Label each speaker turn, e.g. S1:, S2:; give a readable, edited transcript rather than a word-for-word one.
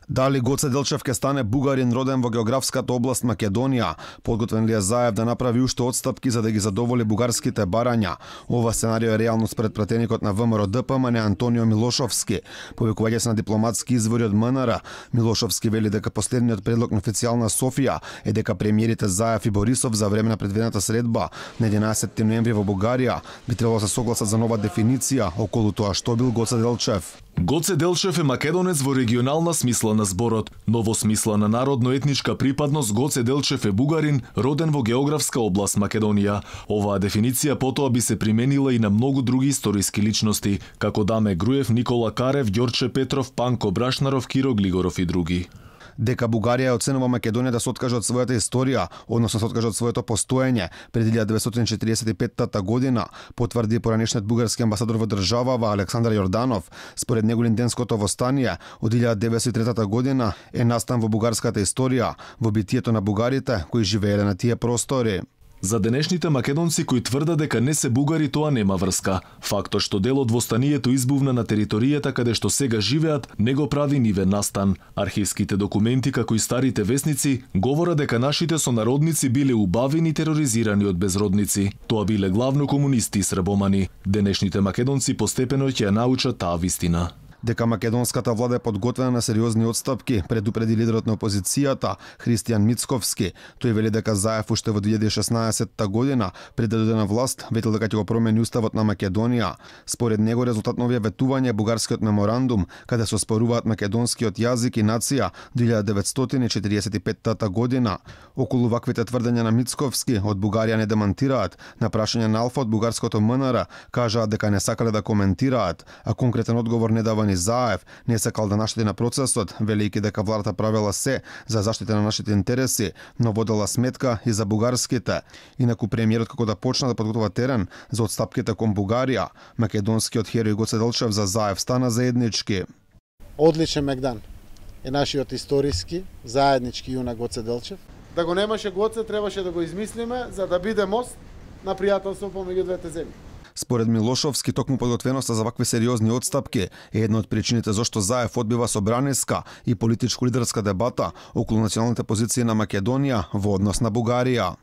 S1: Дали Гоце Делчев ке стане бугарин роден во географската област Македонија? Подготвен ли е Заев да направи уште отстапки за да ги задоволи бугарските барања? Ова сценарио е реално според пратеникот на ВМРО ДПМН Антонио Милошовски. Повикување се на дипломатски извори од МНР, Милошовски вели дека последниот предлог на официјална Софија е дека премиерите Заев и Борисов за време на предвидената средба на 11 ноември во Бугарија би требало да се согласат за нова дефиниција околу тоа што бил Гоце Делчев.
S2: Гоце Делчев е македонец во регионална смисла на зборот, но во смисла на народно-етничка припадност Гоце Делчев е бугарин, роден во географска област Македонија. Оваа дефиниција потоа би се применила и на многу други историски личности, како Даме Груев, Никола Карев, Ѓорче Петров, Панко Брашнаров, Киро Глигоров и други.
S1: Дека Бугарија оценува Македонија да се откаже од својата историја, односно се откаже од своето постоење пред 1945 година, потврди поранешниот бугарски амбасадор во државава Александар Јорданов. Според него линденското востание од 1903 година е настан во бугарската историја, во битието на бугарите кои живееле на тие простори.
S2: За денешните македонци кои тврдат дека не се бугари, тоа нема врска. Фактот што дел од востанието избувна на територијата каде што сега живеат, не го прави нивен настан. Архивските документи, како и старите весници, говорат дека нашите сонародници биле убавени и тероризирани од безродници. Тоа биле главно комунисти и србомани. Денешните македонци постепено ќе ја научат таа вистина.
S1: Дека македонската влада е подготвена на сериозни отстапки, предупреди лидерот на опозицијата Христијан Мицковски. Тој вели дека Заев уште во 2016 година, пред да дојде на власт, ветил дека ќе го промени уставот на Македонија. Според него, резултат на овие ветувања е бугарскиот меморандум, каде се оспоруваат македонскиот јазик и нација 1945 година. Околу ваквите тврдења на Мицковски од Бугарија не демантираат. На прашање на Алфа од бугарското МНР кажаат дека не сакале да коментираат, а конкретен одговор не дава ни Заев. Не сакал да наштети на процесот, велејќи дека владата правела се за заштита на нашите интереси, но водела сметка и за бугарските. Инаку премиерот како да почна да подготвува терен за отстапките кон Бугарија, македонскиот херој Гоце Делчев за Заев стана заеднички.
S3: Одличен мегдан е нашиот историски заеднички јунак Гоце Делчев. Да го немаше Гоце, требаше да го измислиме за да биде мост на пријателство помеѓу двете земји.
S1: Според Милошовски, токму подготвеноста за вакви сериозни отстапки е една од причините зашто Заев одбива собраниска и политичко-лидерска дебата околу националните позиции на Македонија во однос на Бугарија.